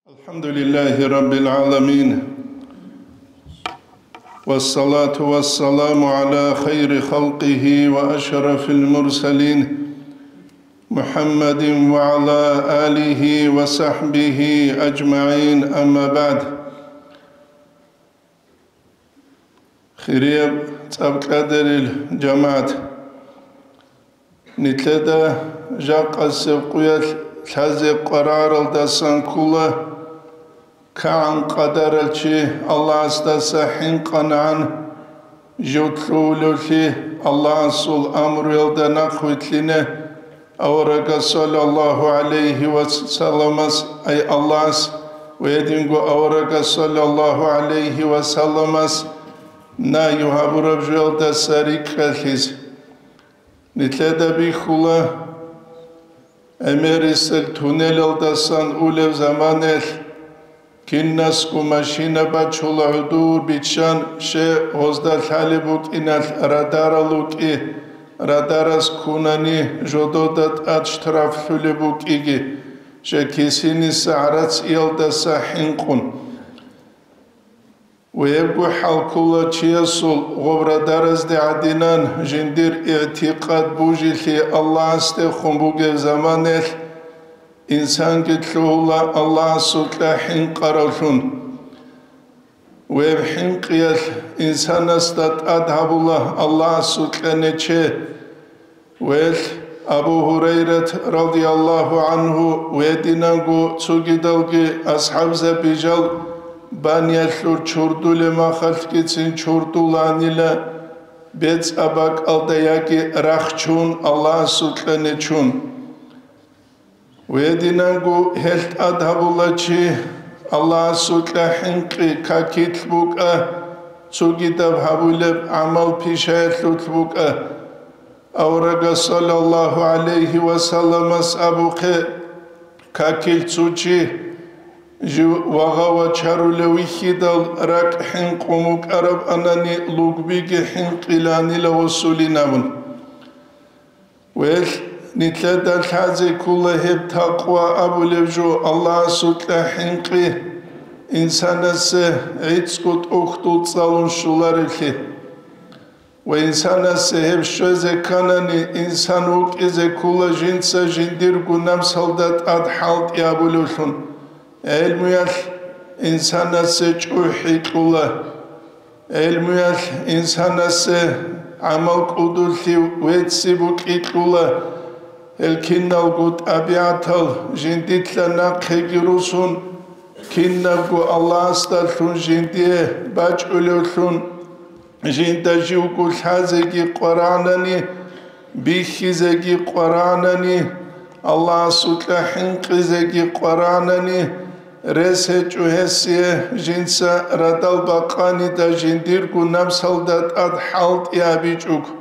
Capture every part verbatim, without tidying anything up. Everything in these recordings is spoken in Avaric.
الحمد لله رب العالمين، والصلاة والسلام على خير خلقه وأشرف المرسلين محمد وعلى آله وصحبه أجمعين، أما بعد. Хирияб цӀакъ кьадарил жамагӀат, нилъеда жакъасеб къуялъ лъазе къвараралдасан ккола, кагӀан къадарал чи Аллагьасдаса хӀинкъанагӀан жив лъугьулевлъи, Аллагьасул амруялда нахъ вилълъине, аварагас саллаллагьу гӀалайгьи ва салламас, ай Аллагьас ва гьединго аварагас саллаллагьу гӀалайгьи ва салламас нагью гьабураб жоялдаса рикӀкӀалъизе. Нилъеда бихьула, гӀемерисел туннелалдасан улеб заманаялъ, кинасго машина бачула гӀодор биччан, щай гьезда лъалеб букӀиналъ радарал рукӀи, радарас ккунани жодода тӀад штраф лъолеб букӀиги, щай кисиниса гӀарац иялдаса хӀинкъун. Вебго хӀал ккола чиясул гъоб радаразде гӀадинан жиндир игӀтикъад бужилъи Аллагьасдехун бугеб заманаялъ, инсанги лъугьула Аллагьасукьа хӀинкъаравлъун. Веб хӀинкъиялъ инсанасда тӀад гьабула Аллагьасукьа нече. Велъ, Абу Гьурайрат радияллагьу гӀангьу гьединанго цогидалги асхӀабзаби жал баниялъур чурдулеб махалъгицин чурдуланила бецӀаб бакӀалда яги рахчун Аллагьасукьа нечун. Гьединанго гьелъ тӀад гьабула чи Аллагьасукьа хӀинкъи, какилъ букӀа, цогидаб гьабулеб гӀамал пишаялъулъ букӀа. Аварагас саллаллагьу гӀалайгьи ва салламас абухъе, какилъ цо чи жив вагъа вачарулев вихьидал ракӀ хӀинкъун вукӀарабанани лугбиги хӀинкъиланила гъосулин абун. Велъ, нилъеда лъазе ккола гьеб такъва абулеб жо, Аллагьасукьа хӀинкъи, инсанасе гӀицӀго тӀохьдул цӀалун щолареблъи. Ва инсанасе гьеб щвезе кканани, инсан вукӀизе ккола жинца жиндирго намсалда тӀад хӀалтӀи абулевлъун. ГӀелмуялъ инсанасе чӀухӀи кьула. ГӀелмуялъ инсанасе гӀамал кӀудулъи вецци букӀи кьула. Гьел киналго тӀабигӀатал жиндилъа нахъеги русун, кинабго Аллагьасдалъун жиндие бачӀулевлъун, жинда живго лъазеги къварагӀанани, бихьизеги къварагӀанани, Аллагьасукьа хӀинкъизеги къварагӀанани, рес гьечӀо гьесие жинца радал бакъанида жиндирго намсалда тӀад хӀалтӀи абичӀого.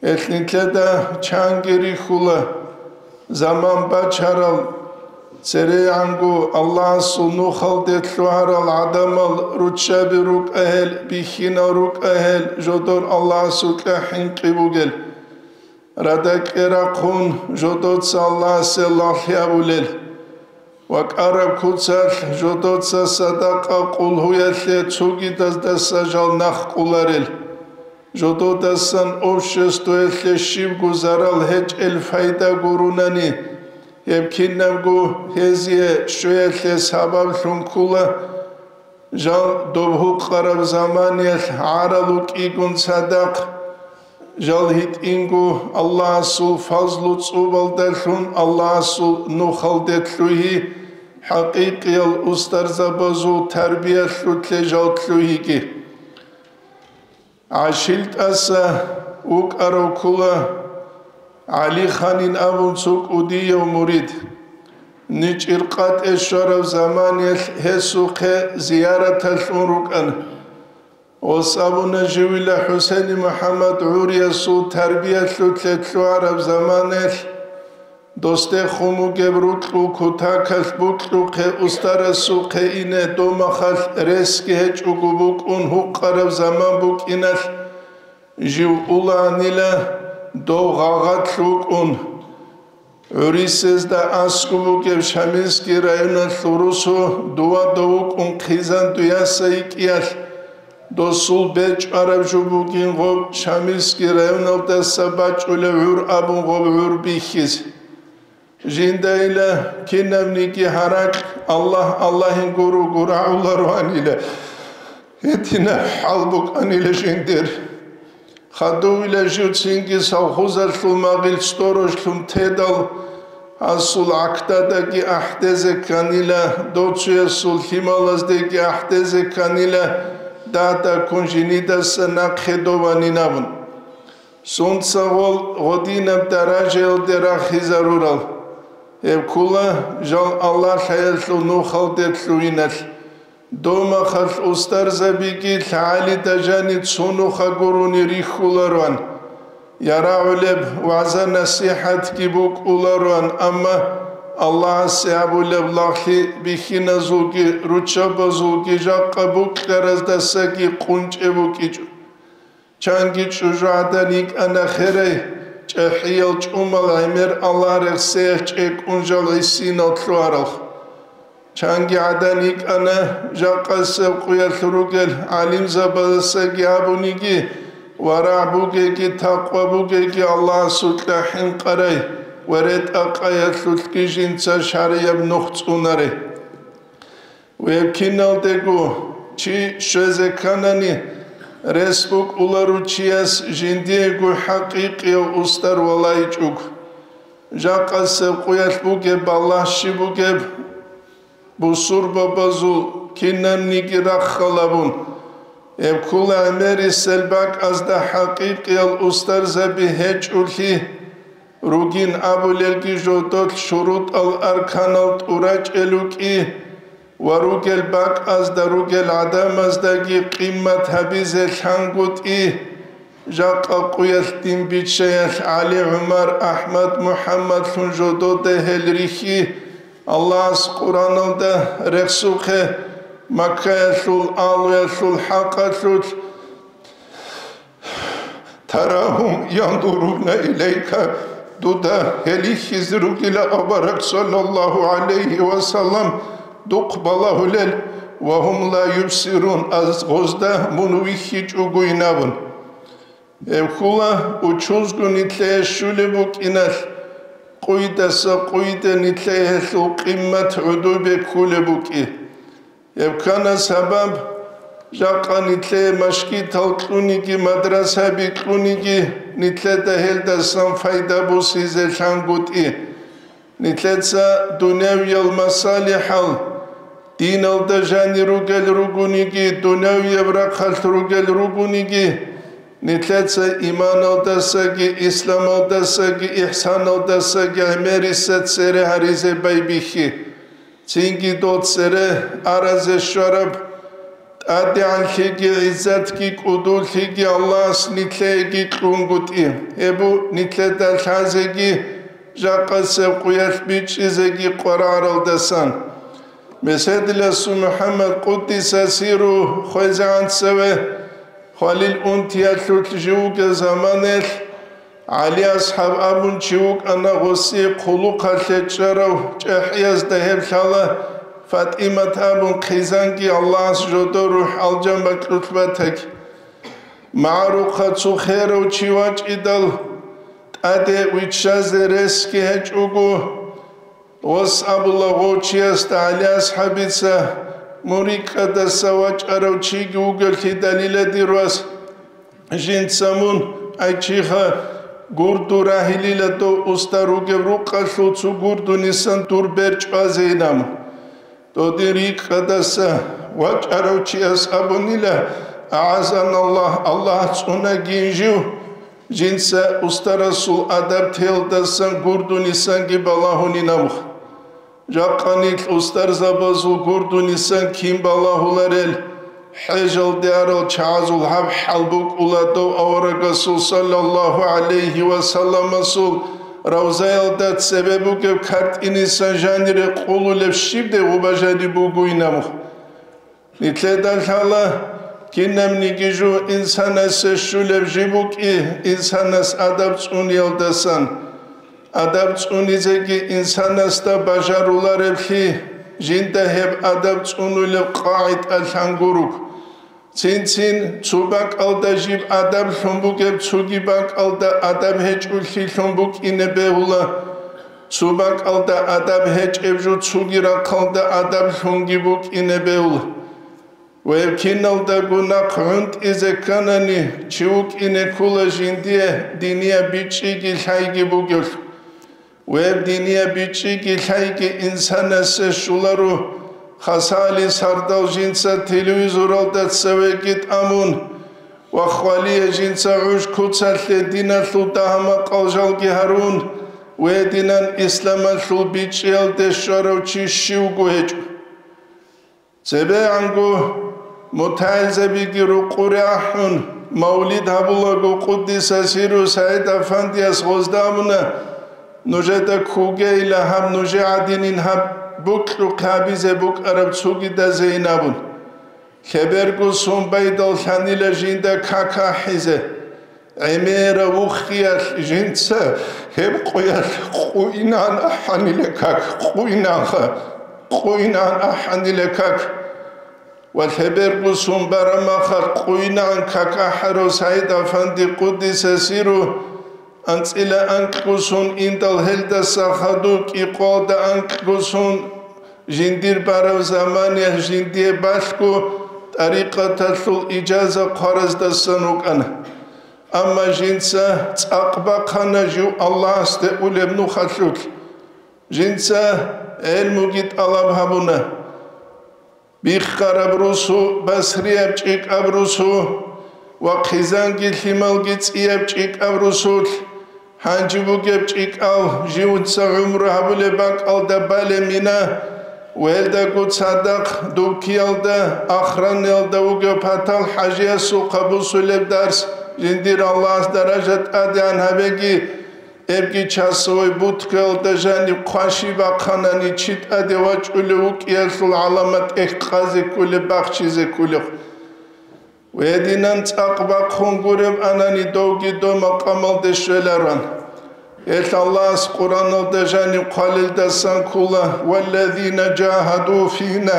Гьелъ нилъеда чанги рихьула, заман бачарал, церегӀанго Аллагьасул нухалде лъугьарал гӀадамал руччаби рукӀа гьел, бихьинал рукӀа гьел, жодор Аллагьасукьа хӀинкъи бугел. Радакье рахъун жодоца Аллагьасе лагълъи абулел. Ва кӀараб куцалъ жодоца садакъа къулгьуялъе цогидаздаса жал нахъ къуларел. Жододасан обществоялъе щибго зарал гьечӀел пайда гурунани, гьеб кинабго гьезие щвеялъе сабаблъун ккула. Жал доб гьукъараб заманиялъ гӀарал рукӀигун цадахъ, жал гьитӀинго Аллагьасул фазлу цӀубалдалъун Аллагьасул нухалде лъугьи, хӀакъикъиял устарзабазул тарбиялъулъе жал лъугьиги. ГӀашилтӀаса вукӀарав ккула ГӀалиханин абун цо кӀудияв мурид. НичӀир къатӀе щвараб заманиялъ гьесухъе зияраталъ ун рукӀана. Гъос абуна, живила ХӀусейни МухӀаммад гӀуриясул тарбиялъулъе лъугьараб заманаялъ, досдехун бугеб рукьул кутакалъ букьухъе устарасухъе ине домахалъ ресги гьечӀого букӀун гьукъараб заман букӀиналъ, жив уланила дов гъагъат лъукӀун. ГӀурисезда аскӀоб бугеб Шамилский районалъул росу дова дов вукӀун хъизан дуяса йикӀиялъ, досул бечӀвараб жо бугин гъоб Шамилский районалдаса бачӀулев гӀур абун гъоб гӀур бихьизе. Жиндайила кинабниги гьаракь Аллагь Аллагьин гуро-гуро гӀолароанила, гьединаб хӀал букӀанила жиндир. Хадувила жив цинги совхозалъул магъил сторожлъун тедал, гьасул гӀахьдадаги ахӀдезе кканила, доцуясул лъималаздеги ахӀдезе кканила, дагьдаккун жинидаса нахъе дов ванин абун. Сунца гъол гъодинаб даражаялде рахизарурал, гьеб ккула жал Аллагь лъаялъул нухалде лъугьиналъ. Домахалъ устарзабиги лъагӀалида жаниб цо нуха гурони рихьулароан. ЯрагӀулеб вагӀза-насихӀатги букӀулароан, амма Аллагьасе гьабулеб лагълъи бихьиназулги руччабазулги жакъа букьараздасаги къунчӀеб букӀичӀо. Чанги чӀужугӀадан йикӀана херай, чӀахӀиял чӀумал гӀемер Аллагь рехсеялъ чӀекӀун жал гӀисинал лъугьаралха. Чанги гӀадан йикӀана, жакъасеб къуялъ ругел гӀалимзабаздасаги абуниги, варагӀ бугеги, такъва бугеги, Аллагьасукьа хӀинкъарай ва ретӀа-къаялъулъги жинца шаргӀияб нух цӀунарай. Гьеб киналдего чи щвезе кканани, рес букӀуларучияс жиндиего хӀакъикъияв устар валайчӀуг. Жакъасеб къуялъ бугеб балагь щиб бугеб, бусурбабазул кинабниги раххалабун, гьеб ккула гӀемерисел бакӀазда хӀакъикъиял устарзаби гьечӀолъи, ругин абулелги жодолъ шурутӀал-арканал тӀурачӀел рукӀи ва ругел бакӀазда ругел гӀадамаздаги къимат гьабизе лъангутӀи, жакъа къуялъ дин биччаялъ ГӀали, ГӀумар, АхӀмад, МухӀаммадлъун жодода гьел рихьи, Аллагьас Къураналда рехсухъе, Маккаялъул агьлуялъул хӀакъалъулъ, «Тарагьум яндуруна илайка», дуда гьел рихьизе ругила авараг, саллаллагьу гӀалайгьи ва саллам, духъ балагьулел, «ва гьум ла юбсирун», аз гъозда мун вихьичӀогойин абун. Гьеб ккула учузго нилъее щулеб букӀиналъ, къуйдаса къуйде нилъее гьелъул къимат гӀодобе кколеб букӀи. Гьеб ккана сабаб, жакъа нилъее машгитал кьуниги, мадрасаби кьуниги, нилъеда гьелдасан пайда босизе лъангутӀи. Нилъеца дунявиял масалихӀал, диналда жанир ругел ругониги, дунявияб рахъалъ ругел ругониги, нилъеца иманалдасаги, исламалдасаги, ихсаналдасаги гӀемерисез цере гьаризе байбихьи. Цинги дол цере аразе щвараб тӀадегӀанлъиги гӀиззатги кӀудуллъиги Аллагьас нилъееги кьунгутӀи. Гьеб бу нилъеда лъазеги жакъасеб къуялъ бичӀчӀизеги къвараралдасан. Меседиласул МухӀаммад, къуддиса сирругьу, хвезегӀан цеве, хвалил унтиялъулъ жив вугев заманаялъ, ГӀали асхӀаб абун чи вукӀана гъосие хъулухъалъе чӀарав, чӀахӀиязда гьеб лъала ФатӀимат абун хъизанги, Аллагьас жодор рухӀ алжан бакьулъ батаги. МагӀарухъа цо херав чи вачӀидал, тӀаде виччазе ресги гьечӀого, Гъос абула гъов чиясда ГӀали асхӀабица, мун рикӀкӀадаса вачӀарав чиги вугевлъидалила, дир вас, жинца мун, ай чиха, гурду рагьилила дов устар ругеб рукъалъул цо гурдунисан дур бер чӀвазейилан. Додин рикӀкӀадаса вачӀарав чияс абунила, агӀазаналлагь, Аллагь цӀунагин жив, жинца устарасул адаб теялдасан гурдунисанги балагьунин абухъ. Жакъа нилъ устарзабазул гурдунисан кин балагьуларел, хӀежалде арал чагӀазул гьаб хӀал букӀула дов аварагасул саллаллагьу гӀалайгьи ва салламасул равзаялда цебе бугеб картӀинисан жанире къулулеб щибде гъуба жаниб бугойин абухъ. Нилъеда лъала, кинабниги жо инсанасе щулеб жиб букӀи, инсанас адаб цӀуниялдасан. Адаб цӀунизеги инсанасда бажарулареблъи, жинда гьеб адаб цӀунулеб къагӀида лъангурухъ. Цин-цин цо бакӀалда жиб адаб лъун бугеб цоги бакӀалда адаб гьечӀолъи лъун букӀине бегьула, цо бакӀалда адаб гьечӀеб жо цоги рахъалда адаб лъунги букӀине бегьула. Ва гьеб киналдаго нахъ гӀунтӀизе кканани, чи вукӀине ккола жиндие динияб бичӀчӀиги лъайги бугелъ. Ва гьеб динияб бичӀчӀиги лъайги инсанасе щоларо, хасали сардал жинца телевизоралда цевеги тӀамун ва хвалие жинца гӀуж куцалъе диналъул дагьа-макъал жалги гьарун, ва гьединан исламалъул бичӀчӀиялде щварав чи щивго гьечӀо. ЦебегӀанго мутагӀилзабиги рукъуре ахӀун, мавлид гьабулаго къуддиса сирру СагӀид-афандияс гъозда абуна: «Нужеда ккугейила гьаб нужее гӀадинин гьаб букьухъе гьабизе букӀараб цогидазейин», – абун. Лъеберго сон байдал лъанила жинда как ахӀизе. ГӀемерав вухиялъ жинца гьеб къуялъ къуйнан ахӀанила как, къуйнанха, къуйнан ахӀанила как. Ва лъеберго сон бараб махалъ къуйнан как ахӀарав СагӀид-афанди къуддиса сирру анцӀила анкьго сон индал гьелдаса хадув кӀикъоялда анкьго сон жиндир бараб заманиялъ жиндие балъго тӀарикъаталъул ижаза хъвараздасан вукӀана. Амма жинца цӀакъ бахъана жив Аллагьасде улеб нухалъулъ. Жинца гӀелмуги тӀалаб гьабуна. Биххараб росу, басрияб чӀикӀаб росу ва хъизанги лъималги цӀияб чӀикӀаб росулъ, гьанже бугеб чӀикӀал живца гӀумру гьабулеб бакӀалда балеб мина, ва гьелдаго цадахъ дубкиялда, ахраниялда вугев патал хӀажиясухъа бусулеб дарс, жиндир Аллагьас даража тӀадегӀан гьабеги, гьебги часовой будкаялда жаниб хъваши бахъанани чи тӀаде вачӀулев вукӀиялъул гӀаламат тӀехь къазе кколеб, бахчизе кколеб. Гьединан цӀакъ бахъун гуреб анани довги дов макъамалде щвеларан. Гьелъ Аллагьас Къуръаналда жаниб хъвалелдасан ккола: «Валлазина жагьаду фина»,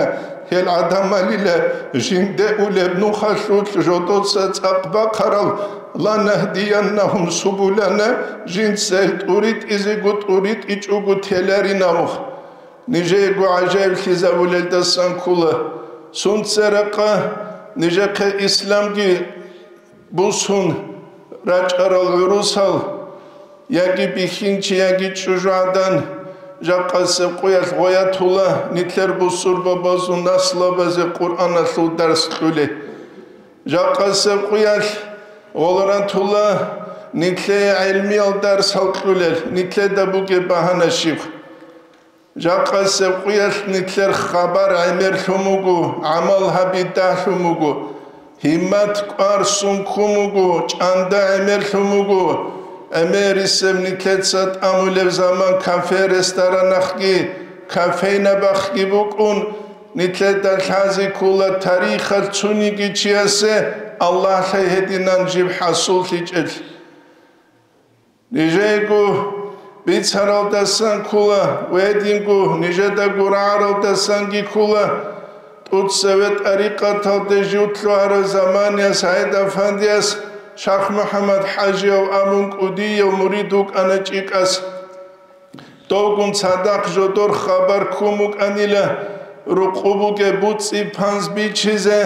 гьел гӀадамалила жинде улеб нухалъулъ жодоца цӀакъ бахъарал, «ланагьдияннагьум субулана», жинца гьел тӀуритӀизего тӀуритӀичӀого теларин абухъ. Нижеего гӀажаиблъизабулелдасан ккола. Сунцеракъа нижехъе исламги бусун рачӀарал гӀурусал, яги бихьинчи, яги чӀужугӀадан, жакъасеб къуялъ гъоятула нилъер бусурбабазул наслабазе Къуръаналъул дарс кьулел. Жакъасеб къуялъ гъолоратула нилъее гӀелмиял дарсал кьулел, нилъеда бугеб багьана щиб. Жакъасеб къуялъ нилъер хабар гӀемерлъун буго, гӀамал гьаби дагьлъун буго, гьиммат кӀвар сон ккун буго, чӀанда гӀемерлъун буго. ГӀемерисеб нилъеца тӀамулеб заман кафе-ресторанахъги, кофейнабахъги букӀун, нилъеда лъазе ккола тарихалъ цониги чиясе Аллагьлъай гьединан жиб хӀасуллъичӀел. Нижеего бицаралдасан ккола, ва гьединго нижеда гурагӀаралдасанги ккола. ТӀуцеве тӀарикъаталде жив лъугьарав заманиялъ СагӀид-афандияс Шах-МухӀаммад-хӀажияв абун кӀудияв мурид вукӀана чӀикӀас. Довгун цадахъ жодор хабар ккун букӀанила, рукъу бугеб буцӀи-панз бичизе,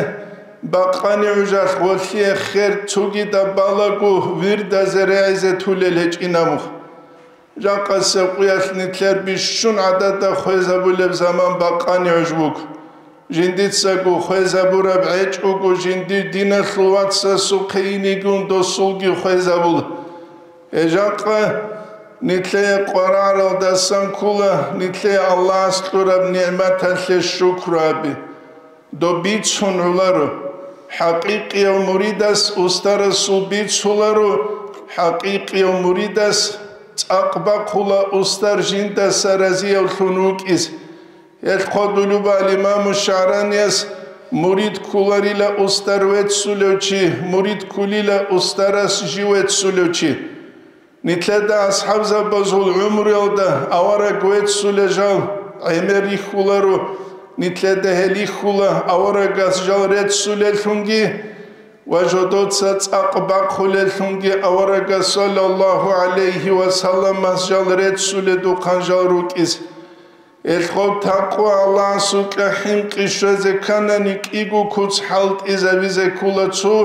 бакъани гӀужалъ гъолъие хер цогидаб балаго вирдазе регӀизе тулел гьечӀин абухъ. Жакъасеб къуялъ нилъер бищун гӀадада хвезабулеб заман бакъани гӀуж буго. Жиндицаго хвезабураб гӀечӀого жиндир диналъул вацасухъе инигун досулги хвезабула. Гьеб жакъа нилъее къварагӀаралдасан ккола нилъее Аллагьас кьураб нигӀматалъе шукру гьаби. Доб бицун гӀоларо. ХӀакъикъияв муридас устарасул бицуларо, хӀакъикъияв муридас цӀакъ бахъула устар жиндаса разиявлъун вукӀиз. Гьелъ хъодулеб имаму ШагӀраниялъ: «Мурид кколарила устар веццулев чи, мурид кколила устарас жив веццулев чи». Нилъеда асхӀабзабазул гӀумруялда авараг веццулел жал гӀемер рихьуларо, нилъеда гьел рихьула аварагас жал реццулеллъунги ва жодоца цӀакъ бахъулеллъунги аварагас, саллаллагьу гӀалайгьи ва салламас, жал реццуледухъан жал рукӀизе. Гьелъ гъоб такъва Аллагьасукьа хӀинкъи щвезе кканани, кӀиго куц хӀалтӀизабизе ккола цо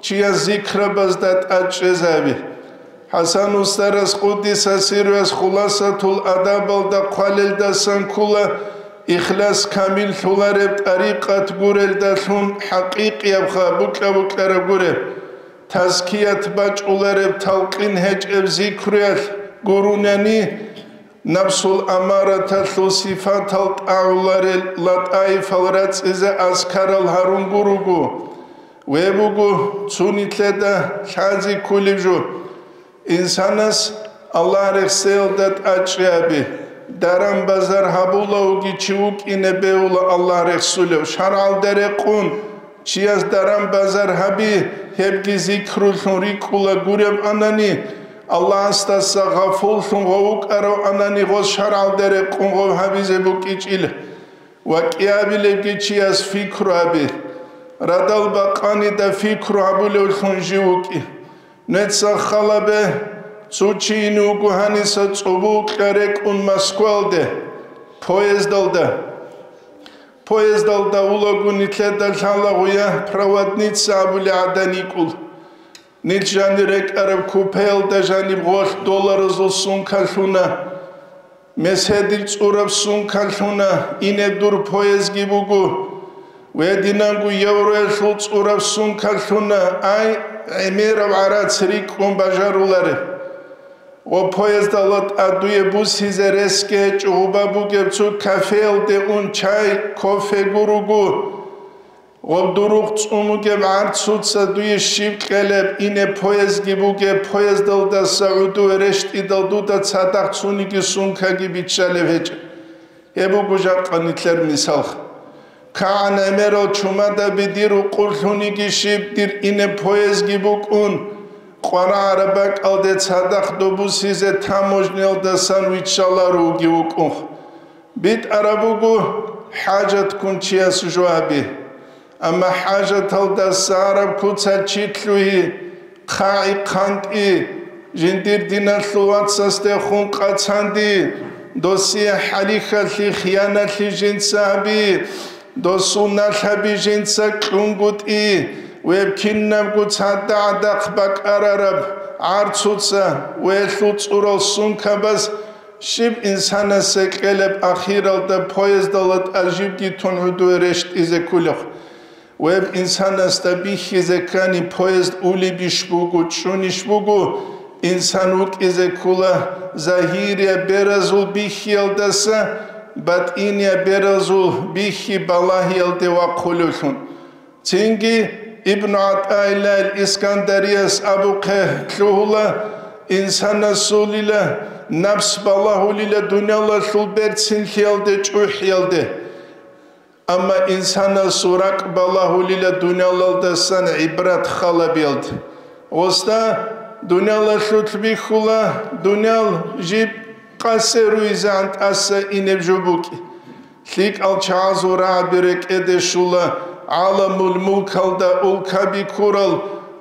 чияс зикрабазда тӀад чӀезаби. ХӀасан устарас, къуддиса сирруяс, Хуласатул адабалда хъвалелдасан ккола, ихлас камиллъулареб тӀарикъат гурелдалъун хӀакъикъиябха букьа-букьараб гуреб, тазкият бачӀулареб талкъин гьечӀеб зикруялъ гурунани, напсул амараталъул сифатал тӀагӀуларел латӀаифал рацӀцӀизе азкарал гьарун гуруго. Ве буго цо нилъеда лъази кколеб жо. Инсанас Аллагь рехсеялда тӀачӀи гьаби, даран-базар гьабулавги чи вукӀине бегьула Аллагь рехсулев, шаргӀалда рекъун, чияс даран-базар гьаби, гьебги зикрулъун рикӀкӀула гуреб анани, Аллагьасдаса гъафуллъун гъов вукӀарав анани, гъос шаргӀалда рекъун гъов гьабизе букӀичӀила. Ва кӀиабилебги чияс фикру гьаби, радал бакъанида фикру гьабулевлъун жив вукӀи. Нецах халабе, цо чи ине вуго гьаниса цӀобо кьа рекӀун Москвалде, поездалда. Поездалда улаго нилъеда лъалагъуя проводница абули гӀадан йикӀул. Нилъ жанир рекӀараб купеялда жаниб гъолъ долларазул сумка лъуна. Меседил цӀураб сумка лъуна, инеб дур поездги буго. Гьединанго евроялъул цӀураб сумка лъуна, ай, гӀемераб гӀарац рикӀкӀун бажаруларе. Гъо поездалда тӀад дуе бусизе ресги гьечӀо гъуба бугеб цо кафеялде ун чай, кофе гуруго. Гъоб дурухъ цӀун бугеб гӀарцуца дуе щиб кьелеб, ине поездги бугеб, поездалдаса гӀодове рещтӀидал дуда цадахъ цониги сумкаги биччалеб гьечӀеб. Гьеб буго жакъа нилъер мисалха. КагӀан гӀемерал чумадаби дир рукъурлъуниги щиб, дир ине поездги букӀун, къварагӀараб бакӀалде цадахъ добусизе таможниялдасан виччаларо вуги вукӀунха. БитӀараб буго хӀажатккун чияс жо гьаби. Амма хӀажаталдаса араб куца чи лъугьи, хъагӀи хъантӀи, жиндир диналъул вацасдехун къацанди, досие хӀалихьалъи, хияналъи жинца гьаби, досул налъаби жинца кьунгутӀи, веб кинабго цадда гӀадахъ бакӀарараб гӀарцуца, вегьлъул цӀурал сумкабаз, щиб инсанасе кьелеб ахиралда поездалда тӀажибги тун гӀодове рещтӀизе кколеб? Веб инсанасда бихьизе ккани, поезд улебищ буго, чӀунищ буго, инсан вукӀизе ккола загьирияб беразул бихьиялдаса батӀинияб беразул бихьи балагьиялде вахъулевлъун. Цинги Ибну ГӀатӀаиллагьил Искандарияс абухъе лъугьула, инсанасулила напс балагьулила дуниялалъул берцинлъиялде, чӀухӀиялде. Амма инсанасул ракӀ балагьулила дуниялалдасан гӀибрат халабиялде. Гъосда дуниялалъулъ бихьула, дуниял жиб къасе руйзегӀан тӀаса инеб жо букӀи. ЛъикӀал чагӀазул рагӀаби рекӀеде щула, гӀаламул мулкалда улкаби ккурал,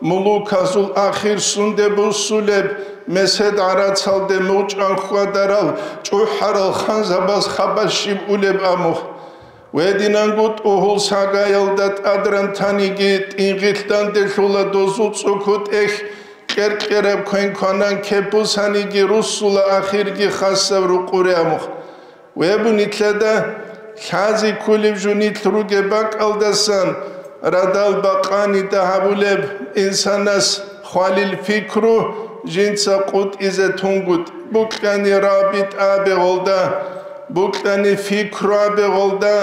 мулуказул ахир сунде буссулеб, месед гӀарацалде мугъчӀван хьвадарал чӀухӀарал ханзабаз хабар щиб улеб амухъ. Гьединанго тӀугьул сагаялда тӀадран таниги, тӀинги данделъула дозул цӀукутӀехь кьер-кьераб квен-кванан кепусаниги руссула ахирги хасаб рукъуре амухъ. Веб нилъеда лъази кколеб жо нилъ ругеб бакӀалдасан радал бакъанида гьабулеб инсанас хвалил пикру жинца къутӀизе тунгутӀ, букьани рабит абе гъолда, букьани пикру абе гъолда,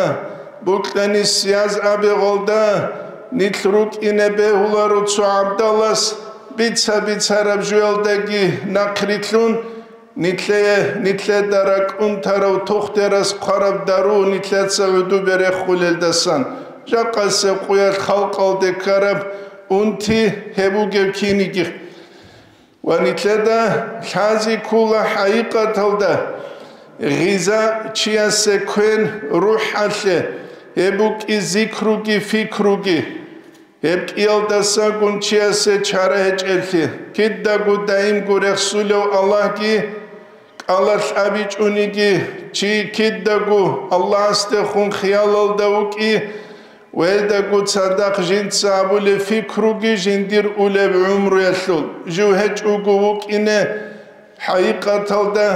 букьани сияз абе гъолда, нилъ рукӀине бегьуларо цо гӀабдалас бица-бицараб жуялдаги нахърилълъун, Нилъее, нилъеда ракӀунтарав тухтер хъвараб дару нилъеца гӀодобе рехулелдасан, жакъасеб къоялъ халкъалде ккараб унти гьеб бугеб киниги. Ва нилъеда лъазе ккола хӀакъикъаталда гъиза чиясе квен рухӀалъе, гьеб букӀи зикруги фикруги. Гьеб кӀиялдасагун чиясе чара гьечӀелъи, кидаго даимго рехсулев Аллагьги кӀалалъ абичӀониги, чи кидаго Аллагьасдехун хиялалда вукӀи, ва гьелдаго цадахъ жинца абулеб фикруги жиндир улеб гӀумруялъул жив гьечӀого вукӀине, хӀакъикъаталда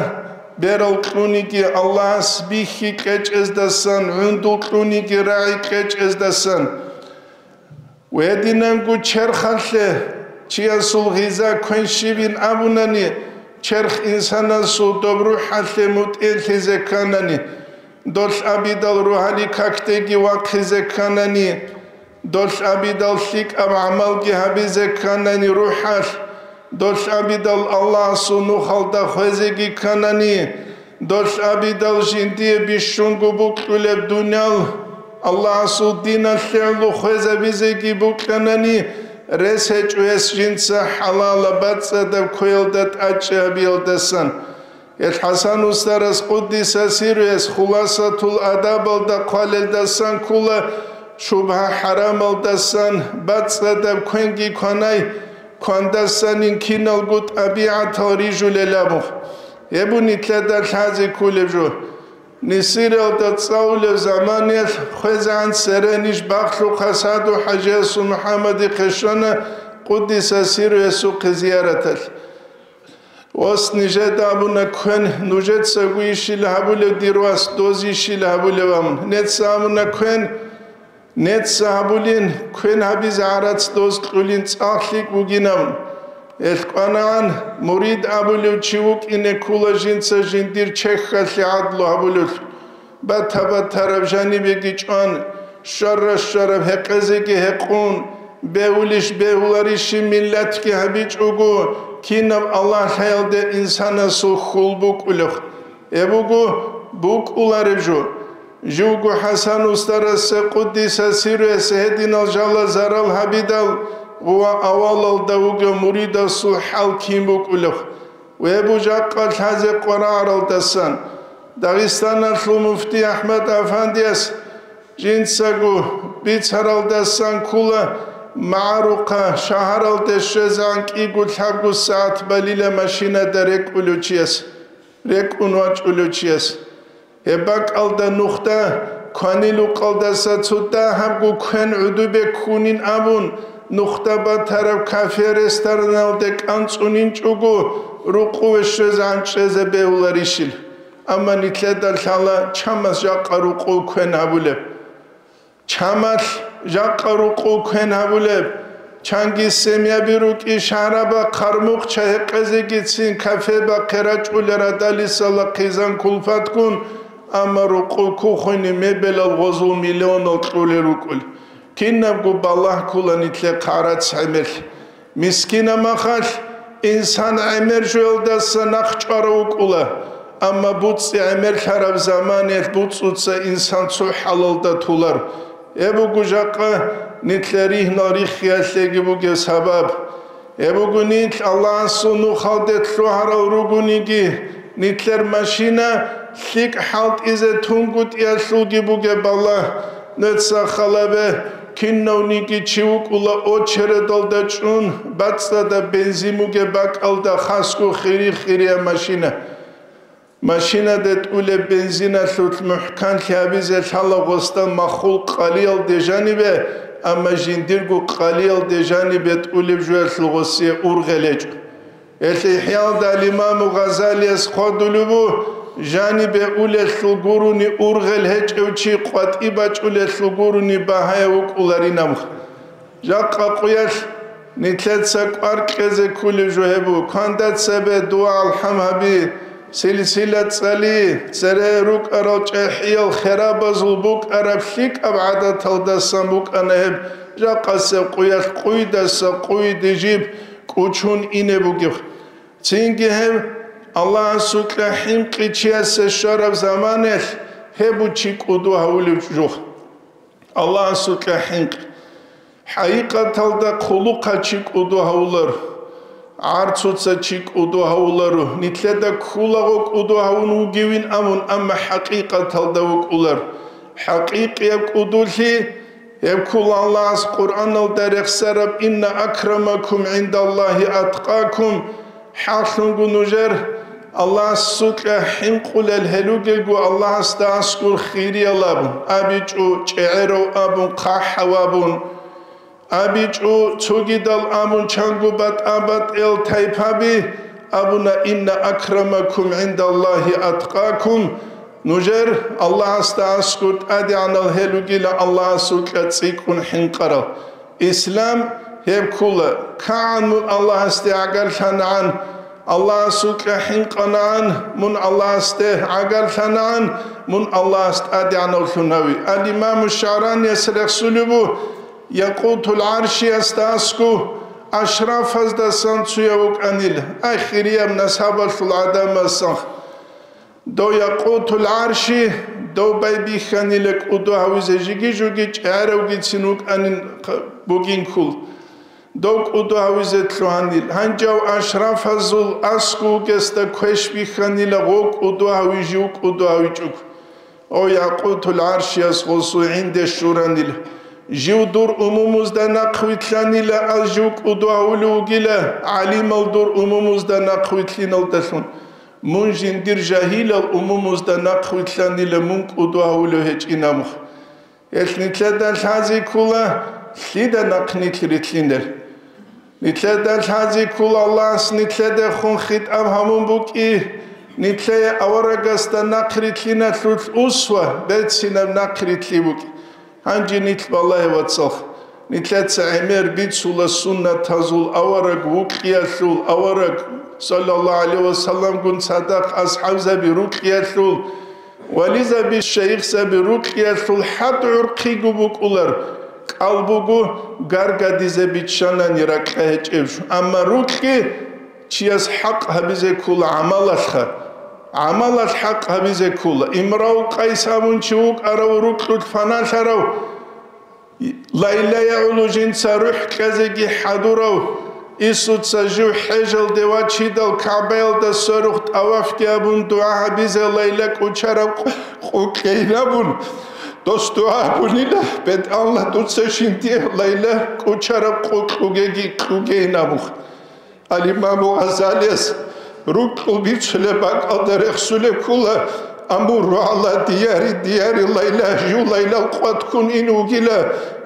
берал кьуниги Аллагьас бихьи кьечӀездасан, гӀундул кьуниги рагӀи кьечӀездасан. Гьединанго черхалъе чиясул гъиза квен щибин абунани, черх инсанасул доб рухӀалъе мутӀигӀлъизе кканани, долъ абидал рогьалил какдеги вахъизе кканани, долъ абидал лъикӀаб гӀамалги гьабизе кканани рухӀалъ, долъ абидал Аллагьасул нухалда хвезеги кканани, долъ абидал жиндие бищунго букьулеб дуниял Аллагьасул диналъе гӀоло хвезабизеги букьанани, рес гьечӀо гьес жинца хӀалалаб бацӀцӀадаб квеялда тӀадчӀи гьабиялдасан. Гьел ХӀасан устарас, къуддиса сирругьу, гьес Хуласатул адабалда хъвалелдасан ккола, шубгьа-хӀарамалдасан бацӀцӀадаб квенги кванай, квандасанин киналго тӀабигӀатал рижулел абун. Гьеб нилъеда лъазе кколеб жо. Несириялда цӀалулеб заманаялъ хвезегӀан церенищ бахлъухъа Саду-хӀажиясул МухӀаммадихъе щвана, къуддиса сирругьу, гьесухъе зияраталъ. Ос, нижеда абуна квен, нужецаго ишил гьабулеб, дир вас, доз ишил гьабулеб, абун. Неца абуна квен, неца гьабулин, квен гьабизе гӀарац доз кьулин цӀакъ лъикӀ бугин, абун. Гьелъ кӀванагӀан, мурид абулев чи вукӀине ккола жинца жиндир чехьалъе гӀадлу гьабулев. Бата-батараб жанибеги чӀван, щвара-щвараб гьекъезеги гьекъун, бегьулищ бегьуларищи миллатги гьабичӀого, кинаб Аллагь лъаялде инсанасул хьул букӀулев. Гьеб буго букӀулареб жо. Живго ХӀасан устарасе, къуддиса сирругьу, гьес гьединал жала зарал гьабидал ва авалалда вугев муридасул хӀал кин букӀулев. Гьеб жакъа лъазе къварагӀаралдасан, Дагъистаналъул муфти АхӀмад Афандияс жинцаго бицаралдасан ккола, магӀарухъа шагьаралде щвезегӀан кӀиго-лъабго сагӀат балила машинада рекӀулев чияс, рекӀун вачӀулев чияс. Гьеб бакӀалда нухда кванилукъалдаса цо дагьабго квен гӀодобе ккунин абун, нухда батараб кафе-рестораналде кӀанцӀунинчӀого, рукъове щвезегӀан чӀезе бегьуларищил? Амма нилъеда лъала чамас жакъа рукъов квен гьабулеб. Чамалъ жакъа рукъов квен гьабулеб, чанги семьяби рукӀи шагьарабахъ, гьармухъ чагьи гьекъезегицин кафебахъе рачӀулел радалисала хъизан-кулфатккун, амма рукъов кухойни мебелал гъозул миллионал кьулел рукӀул. Кинабго балагь ккола нилъехъ гӀарац гӀемер. Мискинаб махалъ инсан гӀемер жоялдаса нахъ чӀварав вукӀула, амма буцӀцӀи гӀемерлъараб заманаялъ буцӀцӀуца инсан цо хӀалалда толар. Гьеб буго жакъа нилъер ригьнал риххиялъеги бугеб сабаб. Гьеб буго нилъ Аллагьасул нухалде лъугьарал ругониги, нилъер машина лъикӀ хӀалтӀизе тунгутӀиялъулги бугеб балагь. Нуца халабе, кинавниги чи вукӀула очередалда чӀун, бацӀцӀадаб бензин бугеб бакӀалда хасго хири-хирияб машина. Машинаде тӀулеб бензиналъулъ мухӀканлъи гьабизе лъала гъосда маххул къалиялде жанибе, амма жиндирго къалиялде жанибе тӀулеб жоялъул гъосие ургъел гьечӀо. Гьелъ ИхӀяалда ал-Имаму Гъазалияс хъвадулеб бу, жанибе улелъул гурони ургъел гьечӀев чи къватӀи бачӀулелъул гурони багьаяб вукӀуларинаб. Жакъа къуялъ нилъеца кӀвар кьезе кколеб жо гьеб бу: кванда цебе дуа-алхӀам гьаби, силсила цӀали, цере рукӀарал чӀехӀиял херабазул букӀараб лъикӀаб гӀадаталдасан букӀана гьеб, жакъасеб къуялъ къуйдаса къуйде жиб кӀучун ине бугеб. Цинги гьеб Аллагьасукьа хӀинкъи чиясе щвараб заманаялъ гьеб чи кӀуду гьавулев жо. Аллагьасукьа хӀинкъи. ХӀакъикъаталда хъулухъа чи кӀуду гьавулар. ГӀарцуца чи кӀуду гьавуларо, нилъеда ккулаго кӀуду гьавун вугевин абун, амма хӀакъикъаталда вукӀулар. ХӀакъикъияб кӀудулъи гьеб ккула Аллагьас Къуръаналда рехсараб: «Инна акрамакум гӀиндаллагьи аткъакум», хӀакълъунго нужер Аллагьасукьа хӀинкъулел гьел ругелго Аллагьасда аскӀор хириялаб абичӀо, чӀегӀерав абун, хъахӀав абун. АбичӀо цогидал абун чанго батӀа-батӀел тайпаби абуна: «Инна акрамакум гӀиндаллагьи аткъакум», нужер Аллагьасда аскӀор тӀадегӀанал гьел ругила Аллагьасукьа цӀикӀкӀун хӀинкъарал. Ислам гьеб ккула: кагӀан мун Аллагьасде гӀагарлъанагӀан, Аллагьасукьа хӀинкъанагӀан, мун Аллагьасде гӀагарлъанагӀан, мун Аллагьас тӀадегӀанавлъун гьави. Ал-Имаму ШагӀранияс рехсулеб бу, Якъутул ГӀаршиясда аскӀо, ашрафаздасан цояв вукӀанила, ахирияб насабалъул гӀадамасан. Дов Якъутул ГӀарши, дов байбихьанила кӀуду гьавизе жиги-жуги чӀаравгицин вукӀанин бугин ккул. Дов кӀуду гьавизе лъугьанил. Гьанжав ашрафазул аскӀов вугесда квеш бихьанила гъов кӀуду гьави жив кӀуду гьавичӀого. О, Якъутул ГӀаршияс гъосул гӀинде щуранила. Жив дур умумузда нахъвилълъанила, аз жив кӀуду гьавулев вугила, гӀалимал дур умумузда нахъвилълъиналдалъун. Мун жиндир жагьилал умумузда нахъвилълъанила, мун кӀуду гьавулев гьечӀин абухъ. Гьелъ нилъеда лъази ккула, лъида нахъ нилъ рилълъинел. Нилъеда лъази ккула Аллагьас нилъедехун хитӀаб гьабун букӀи, нилъее аварагасда нахърилълъиналъулъ усва, берцинаб нахърилълъи букӀи. Гьанже нилъ балагье, вацал, нилъеца гӀемер бицула суннатазул авараг вукьиялъул, авараг, саллаллагьу гӀалайгьи вассаламгун цадахъ асхӀабзаби рукьиялъул, вализаби, шайихзаби рукьиялъул хӀатӀ гӀурхъиго букӀулар, кӀал буго, гаргадизе биччанани ракьа гьечӀеб жо. Амма рукьги чияс хӀакъ гьабизе ккола гӀамалалъха. ГӀамалалъ хӀакъ гьабизе ккола. Имрав Къайс абун чи вукӀарав, рукьулъ фаналъарав, Лайла гӀоло жинца рухӀ кьезеги хӀадурав, Исуца жив хӀежалде вачидал КагӀбаялда сверухъ тӀавафги абун дугӀа гьабизе Лайла кӀочараб къу-, къукӀейин абун, дос дугӀа гьабунила: «БетӀалла, дуца жиндие Лайла кӀочараб къукъ кьугеги кьугейин», – абухъ. Ал-Имаму Гъазалияс рукьул бицулеб бакӀалда рехсулеб ккола: «Амурру гӀала дияри, дияри Лайла», жив Лайлал къват ккун ин вугила,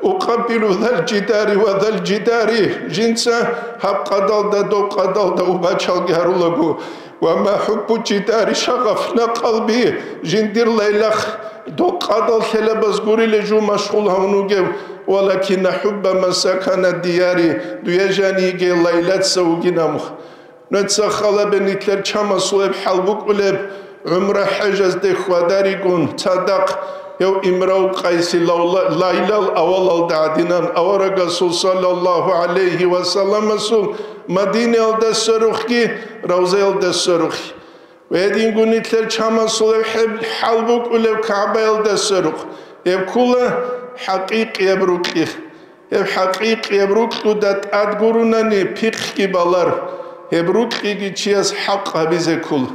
«укъаббилу зал жидари ва зал жидари», жинца гьаб къадалда, доб къадалда убачалги гьарулаго, «ва ма хӀуббу жидари шагъафна къалби», жиндир Лайлах доб къадал лъелабаз гурила жив машгъул гьавун вугев, «валакинна хӀубба ман сакана дияри», дуе жан йиге Лайлаца вугин амухъ. Нуца халабе нилъер чамасулеб хӀал букӀулеб, гӀумра хӀежазде хьвадаригун, цадахъ гьев Имрав Къайси лавла-, Лайлал авалалда гӀадинан аварагасул саллаллагьу гӀалайгьи ва салламасул Мадинаялда сверухъги, Равзаялда сверухъги. Гьединго нилъер чамасулеб хӀеб-, хӀал букӀулеб КагӀбаялда сверухъ. Гьеб ккула хӀакъикъияб рукьи. Гьеб хӀакъикъияб рукьуда тӀад гурунани пихъги балар, гьеб рукьиги чияс хӀакъ гьабизе ккола.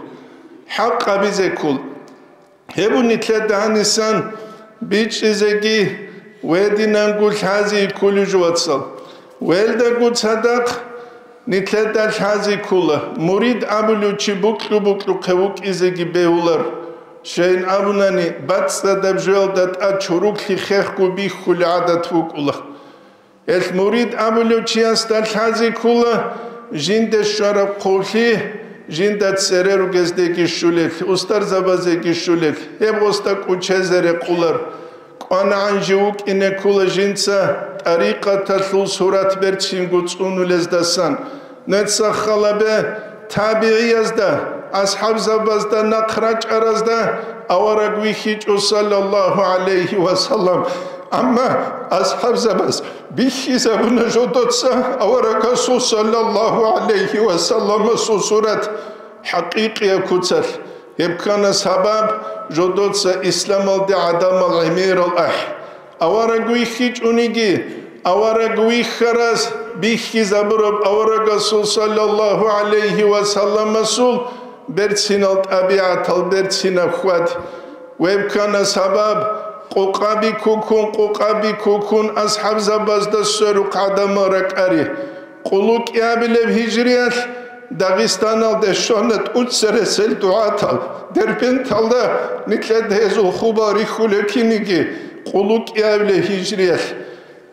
ХӀакъ гьабизе ккола. Гьеб нилъеда гьанисан бичӀчӀизеги гьединанго лъази кколеб жо, вацал. Гьелдаго цадахъ нилъеда лъази ккола, мурид абулев чи букьу-букьухъе вукӀизеги бегьулар. Щайин абунани, бацӀцӀадаб жоялда тӀад чороклъи хехго бихьулеб гӀадат букӀула. Гьелъ мурид абулев чиясда лъази ккола жинде щвараб хъублъи, жинда цере ругездеги щулелъ, устарзабазеги щулелъ, гьеб гъосда кӀучезе рекъулар. КӀванагӀан жив вукӀине ккола жинца тӀарикъаталъул сурат берцинго цӀунулездасан. Нуца халабе табигӀиязда, асхӀабзабазда нахъ рачӀаразда авараг вихьичӀо, саллаллагьу гӀалайгьи ва саллам. Амма асхӀабзабаз бихьизабуна жодоца аварагасул, саллаллагьу гӀалайгьи ва салламасул, сурат хӀакъикъияб куцалъ. Гьеб ккана сабаб жодоца исламалде гӀадамал гӀемерал ахӀи. Авараг вихьичӀониги, авараг вихьарас бихьизабураб аварагасул саллаллагьу гӀалайгьи ва салламасул берцинал тӀабигӀатал берцинаб хьвад. Гьеб ккана сабаб, къукъаби ккуккун, къукъаби ккуккун асхӀабзабазда сверухъ гӀадамал ракӀари. Къуллукъиабилеб гьижриялъ Дагъистаналде щвана тӀуцересел дугӀатал, Дербенталда нилъеда гьезул хубал рихьулел киниги, къуллукъиабилеб гьижриялъ.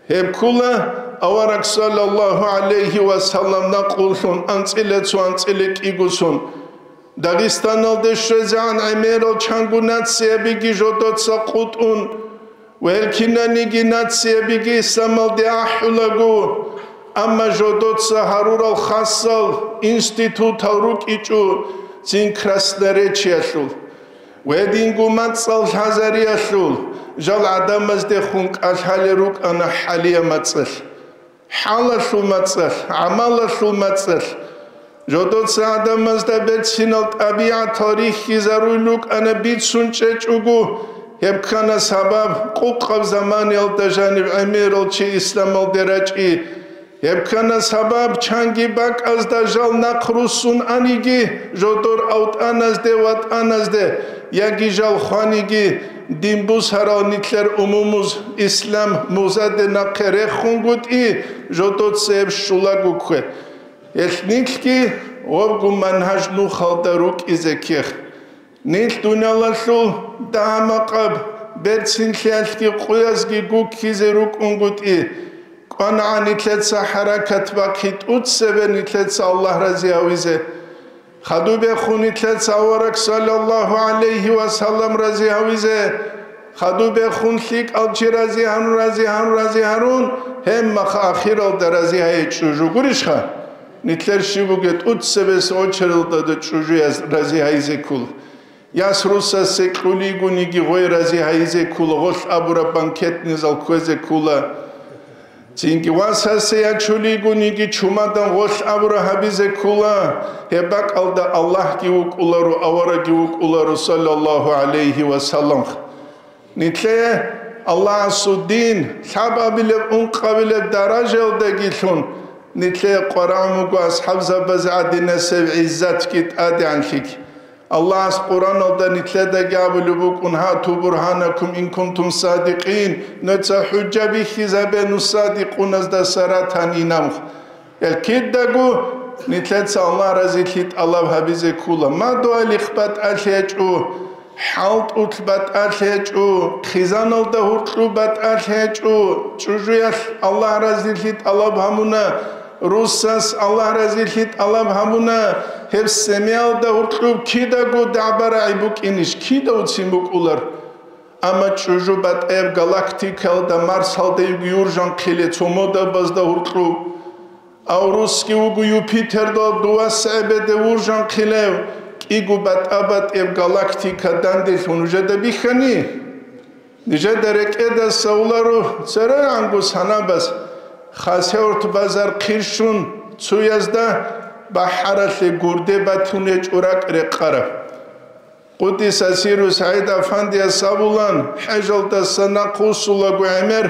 Гьеб ккула авараг саллаллагьу гӀалайгьи ва саллам накълулъун анцӀила цо анцӀила кӀигосун. Дагъистаналде щвезегӀан гӀемерал чанго нациябиги жодоца къутӀун, ва гьел кинаниги нациябиги исламалде ахӀулаго, амма жодоца гьарурал хасал институтал рукӀичӀо цин Красноречиялъул. Гьединго мацӀал лъазариялъул жал гӀадамаздехун кӀалъалел рукӀана хӀалия мацӀалъ. ХӀалалъул мацӀалъ, гӀамалалъул мацӀалъ. Жодоца гӀадамазда берцинал тӀабигӀатал рихьизаруй рукӀана бицун чӀечӀого, гьеб ккана сабаб къукъаб заманиялда жаниб гӀемерал чи исламалде рачӀи. Гьеб ккана сабаб чанги бакӀазда жал нахъ руссун аниги, жодор автӀаназде, ватӀаназде, яги жал хваниги, дин бусарал нилъер умумуз ислам музаде нахъе рехунгутӀи, жодоцеб щулаго ккве. Гьелъ нилъги гъобгу манхӀаж нухалда рукӀизе ккех. Нилъ дуниялалъул дагьа-макъаб берцинлъиялъги къуязги гуккизе рукӀунгутӀи, кӀванагӀа нилъеца хӀаракат бахъи тӀуцебе нилъеца Аллагь рази гьавизе. Хадубехун нилъеца авараг саллаллагьу гӀалайгьи ва саллам рази гьавизе. Хадубехун лъикӀал чи рази гьарун, рази гьарун, рази гьарун, гьебмахъ ахиралда рази гьайичӀо жугурищха? Нилъер щиб бугеб тӀуцебес очередалда чӀужуяз рази гьайзе ккола. Яс руссасе кьулигониги гъой рази гьайзе ккола, гъолъ абураб банкетный зал кквезе ккола. Цинги васасе ячулигониги чумадан гъолъ абура гьабизе ккола, гьеб бакӀалда Аллагьги вукӀуларо, аварагги вукӀуларо, саллаллагьу гӀалайгьи ва саллам. Нилъее Аллагьасул дин лъабабилеб, ункъабилеб даражаялдагилъун нилъее къварагӀун буго асхӀабзабазе гӀадинасеб гӀиззатги тӀадегӀанлъиги. Аллагьас Къуръаналда нилъедаги абулеб букӀун: «Гьату бургьанакум ин кунтум садикъин», нуца хӀужа бихьизабе, нух садикъуназдаса ратани, инамх. Гьел кидаго нилъеца Аллагь разилъи тӀалаб гьабизе ккола. Мадугьалихъ батӀалъи гьечӀо, хӀалтӀулъ батӀалъи гьечӀо, хъизаналда гьуркьуб батӀалъи гьечӀо, чӀужуялъ Аллагь разилъи тӀалаб гьабуна, руссас Аллагь разилъи тӀалаб гьабуна, гьеб семиялда гьуркьуб кидаго дагӀба-рагӀи букӀинищ, кидавцин букӀулар. Амма чӀужу батӀаяб галактикаялда Марсалда юржанхъиле цо модабазда гьуркьуб. Аврусги вуго Юпитерда дувас гӀебеде вуржанхъилев, кӀиго батӀа-батӀияб галактика данделъун нужеда бихьани? Нижеда рекӀеда савлару церегӀанго санабаз, Хасавюрт базар хъирщун цуязда бахӀаралъе гурде батун гьечӀо ракӀ рекъараб. Къуддиса сирру СагӀид Афандияс абулан, хӀежалдаса нахъ вуссулаго гӀемер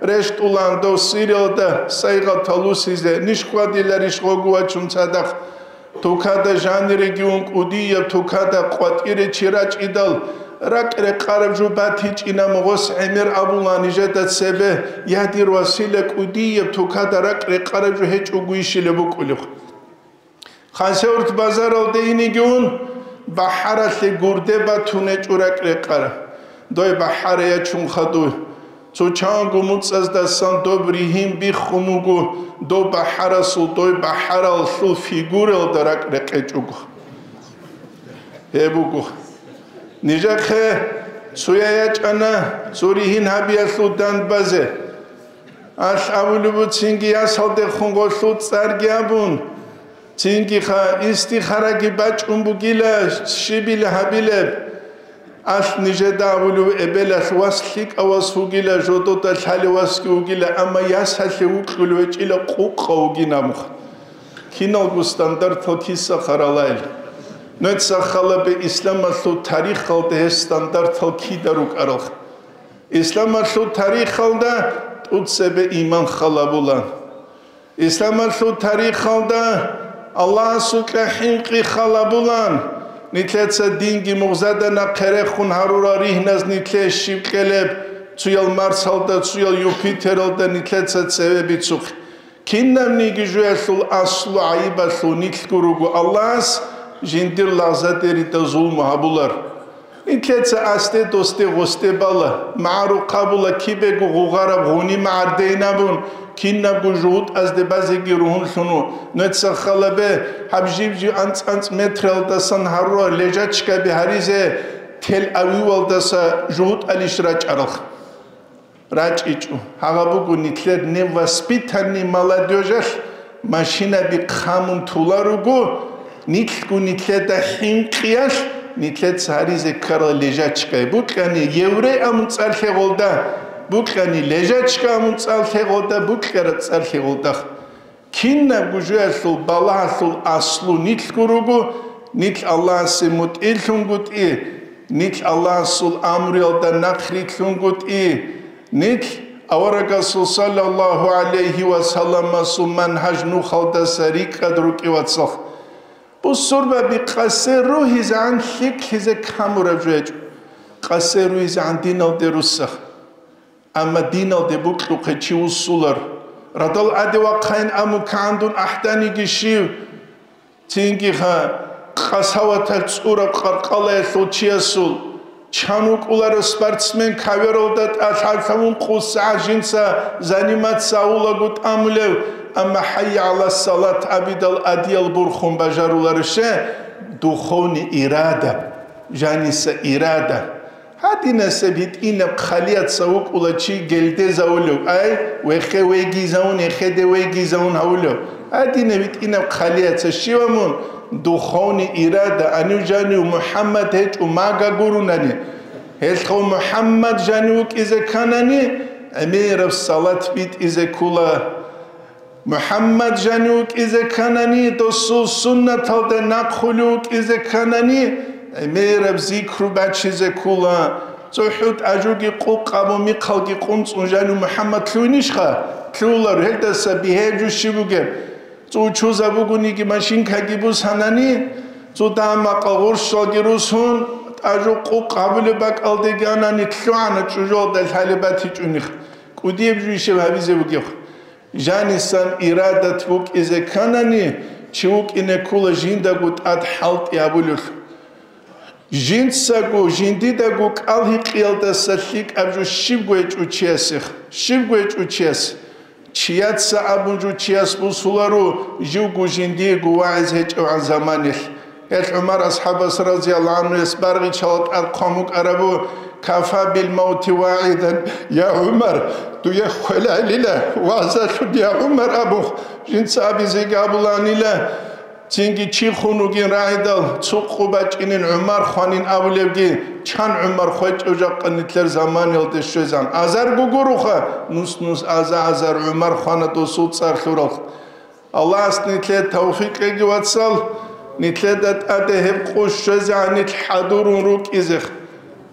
рещтӀулан дов Сириялда сайгъатал вусизе, ниж хьвадиларищ гъого вачун цадахъ? Тукада жаниреги ун кӀудияб тукада къватӀире чи рачӀидал, ракӀ рекъараб жо батичӀинаб гъос гӀемер абулан нижеда цебе, я дир васила, кӀудияб тукада ракӀ рекъараб жо гьечӀого ишилеб букӀулеб. Хасавюрт базаралде инеги ун, бахӀаралъе гурде батун гьечӀо ракӀ рекъараб. Дой бахӀара ячун хадув. Цо чанго муцӀаздасан доб ригьин биххун вуго, доб бахӀарасул дой бахӀаралъул фигуралда ракӀ рекъечӀого. Гьеб буго. Нижехъе цоя ячӀана цо ригьин гьабиялъул дандбазе. Алъ абулеб буцинги ясалдехун гъолъул цӀарги абун, Цинги-ха, истихараги бачӀун бугила, щибил гьабилеб? Алъ нижеда абулев эбелалъ вас лъикӀав вас вугила, жодода лъалев васги вугила, амма ясалъе вукьулев гьечӀила къукъа вугин абуха. Киналго стандартал киса харалайил. Нуца халабе исламалъул тарихалда гьеб стандартал кида рукӀаралха. Исламалъул тарихалда тӀуцебе иман халабула. Исламалъул тарихалда Аллагьасукьа хӀинкъи халабулан, нилъеца динги мугъзада нахъе рехун гьарурал ригьназ нилъее щиб кьелеб, цуял Марсалда, цуял Юпитералда нилъеца цеве бицухъе. Кинабниги жоялъул аслу гӀайибалъул нилъго руго Аллагьас жиндир лагъзадерида зулму гьабулар. Нилъеца асде-досде гъосде бала, магӀарухъ абула кибего гъугъараб гъуни магӀардейин абун, кинабго жугьутӀазде базеги ругьунлъун ву. Нуца халабе, гьаб жиб-жиб анцӀ-анцӀ метралдасан гьарурал лежачкаби гьаризе Тел-Авивалдаса жугьутӀалищ рачӀаралха. РачӀичӀо. Гьагъа буго нилъер невоспитанный молодёжалъ машинаби хъамун тула руго, нилъго нилъеда хӀинкъиялъ, нилъеца гьаризе ккарал лежачкай. Букьани еврей амун цӀар лъегъолда, букьани лежачка амун цӀар лъегъолда, букьара цӀар лъегъолдах. Кинабго жоялъул балагьалъул аслу нилъго руго, нилъ Аллагьасе мутӀигӀлъунгутӀи, нилъ Аллагьасул амруялда нахърилълъунгутӀи, нилъ аварагасул саллаллагьу гӀалайгьи ва салламасул мангьаж нухалдаса рикӀкӀад рукӀи, вацал. Бусурбаби къасе ругьизегӀан лъикӀлъизе камураб жо гьечӀо, къасе ругьизегӀан диналде руссах. Амма диналде букьухъе чи вуссулар. Радал аде вахъайин амун кагӀандун ахӀданиги щив? Цинги ха, къасаватал цӀураб къаркъалаялъул чиясул чан вукӀуларев спортсмен кавералда тӀалъалъавун къусгӀа жинца заниматься авулаго тӀамулев, амма хӀайя гӀала салат абидал адиял бурхун бажаруларевщи? Духовный ирада, жаниса ирада. Гьадинасеб гьитӀинаб хъалияца вукӀула чи гелдезавулев, ай, вехе вегизавун, эхеде вегизавун гьавулев. Гьадинаб гьитӀинаб хъалияца щивамун духовный ирада, анив жанив МухӀаммад гьечӀо мага гурунани. Гьелъго МухӀаммад жанив вукӀизе кканани, гӀемераб салат битӀизе ккула. МухӀаммад жанив вукӀизе кканани, досул суннаталда нахъулев вукӀизе кканани, гӀемераб зикру бачизе ккула. ЦохӀу тӀажуги къукъ абун михъалги къунцӀун жанив МухӀаммад лъугьинищха? Лъугьулар, гьелдаса бигьеб жо щиб бугеб? ЦӀучузабугониги машинкаги бусанани, цо дагьа-макъа гъурщалги русун, тӀажу къукъ гьабулеб бакӀалдеги анани, лъугӀана чӀужуялда лъалеб батичӀунихъ. КӀудияб жо ишеб гьабизе бугеб? Жанисан ирадат букӀизе кканани, чи вукӀине ккула жиндаго тӀад хӀалтӀи гьабулелъул. Жинцаго, жиндидаго кӀал-гьикъиялдаса лъикӀаб жо щибго гьечӀо чиясех, щибго гьечӀо чияс. Чияца абун жо чияс бусуларо, живго жиндиего вагӀиз гьечӀевгӀан заманилъ. Гьелъ ГӀумар асхӀабас, разияллагьу гӀангьу, гьес баргъичалал тӀад хъван букӀарабу: «Кафа бил мавти вагӀизан, я ГӀумар, дуе хвелайилила вагӀзалъун, я ГӀумар», абун, жинца абизеги абуланила, цинги чи хун вугин рагӀидал, цо къо бачӀинин ГӀумар хванин абулебги, чан ГӀумар хвечӀев жакъа нилъер заманиялде щвезан. Азарго гуроха, нус-нус аза-азар ГӀумар хвана досул цӀар лъурал. Аллагьас нилъее тавфикъ кьеги, вацал, нилъеда тӀаде гьеб къо щвезегӀан нилъ хӀадурун рукӀизех.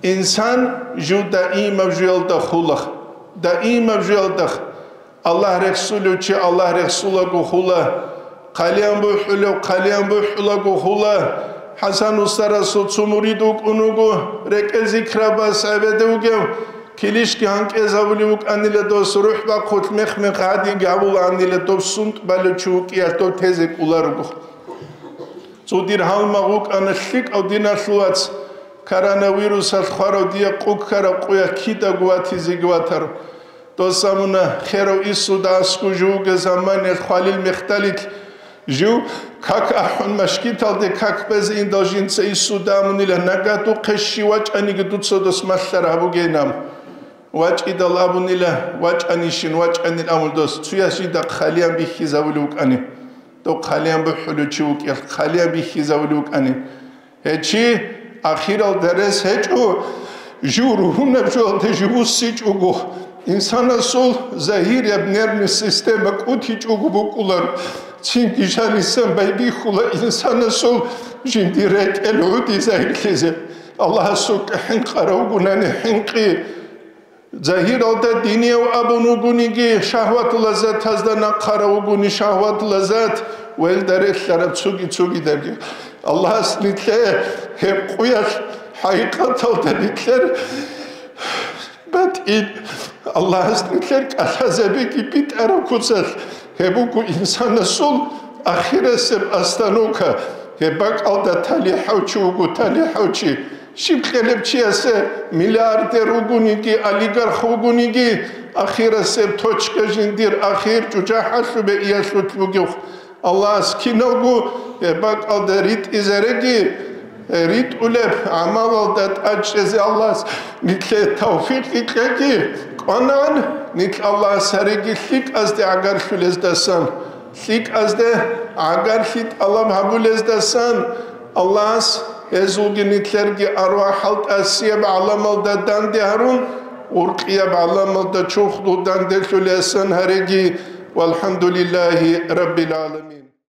Инсан жив даимаб жуялда хулах, даимаб жуялдах. Аллагь рехсулев чи Аллагь рехсулаго хула, хъалиян бухӀулев хъалиян бухӀулаго хула. ХӀасан устарасул цо мурид вукӀун вуго, рекӀел зикрабас гӀебеде вугев, килищги гьанкӀезабулев вукӀанила дос, рухӀ бахъулъ мех-мех гьадинги гьавулаанила доб сунтӀ балев чи вукӀиялъ дов тезе кӀоларого. Цо дир гьалмагъ вукӀана лъикӀав диналъул вац, коронавирусалъ хварав дие къу ккараб къуялъ кидаго ватизеги ватар. Дос абуна, херав Иисуда аскӀов жугьуге заманиялъ хвалил мехталилъ, жив как ахӀун машгиталде как базе индал жинца Иисуда абунила, нагагь духъе щив вачӀаниги дуца дос малъараб гьабугейин абун. ВачӀидал абунила, вачӀанищин, вачӀанил абун дос, цуяс жинда хъалиян бихьизавулев вукӀани. Дов хъалиян бухӀулев чи вукӀиялъ хъалиян бихьизавулев вукӀани. Гьечи, ахиралда рес гьечӀо, жив ругьунаб жоялда жив вуссичӀого, инсанасул загьирияб нервный система кӀутичӀого букӀулар, цинги жанисан байбихьула инсанасул жиндир рекӀел гӀуди загьирлъизе. Аллагьасукьа хӀинкъарав вугунани хӀинкъи. Загьиралда динияв абун вугониги, шагьват-лаззатазда нахъарав вугони шагьват-лаззат, ва илда релълъараб цоги-цогидаги. Аллагьас нилъее гьеб къуялъ хӀакъикъаталда нилъер батӀин, Аллагьас нилъер кӀалъазабиги битӀараб куцалъ, гьеб буго инсанасул ахирасеб остановка. Гьеб бакӀалда талихӀав чи вуго, талихӀав чи. Щиб кьелеб чиясе миллиардер вугониги, олигарх вугониги, ахирасеб точка жиндир ахир чӀужахӀалъубе иялъулъ бугев. Аллагьас киналго гьеб бакӀалда ритӀизареги, ритӀулеб гӀамалалда тӀадчӀезе Аллагьас нилъее тавфикъ кьеги, кӀванан нилъ Аллагьас гьареги лъикӀазде гӀагарлъулездасан, лъикӀазде гӀагарлъи тӀалаб гьабулездасан, Аллагьас гьезулги нилъерги арвахӀал тӀасияб гӀаламалда данде гьарун, уркьияб гӀаламалда чурхдул данделъулесан гьареги. ВалхӀамдулиллагьи раббил гӀаламин.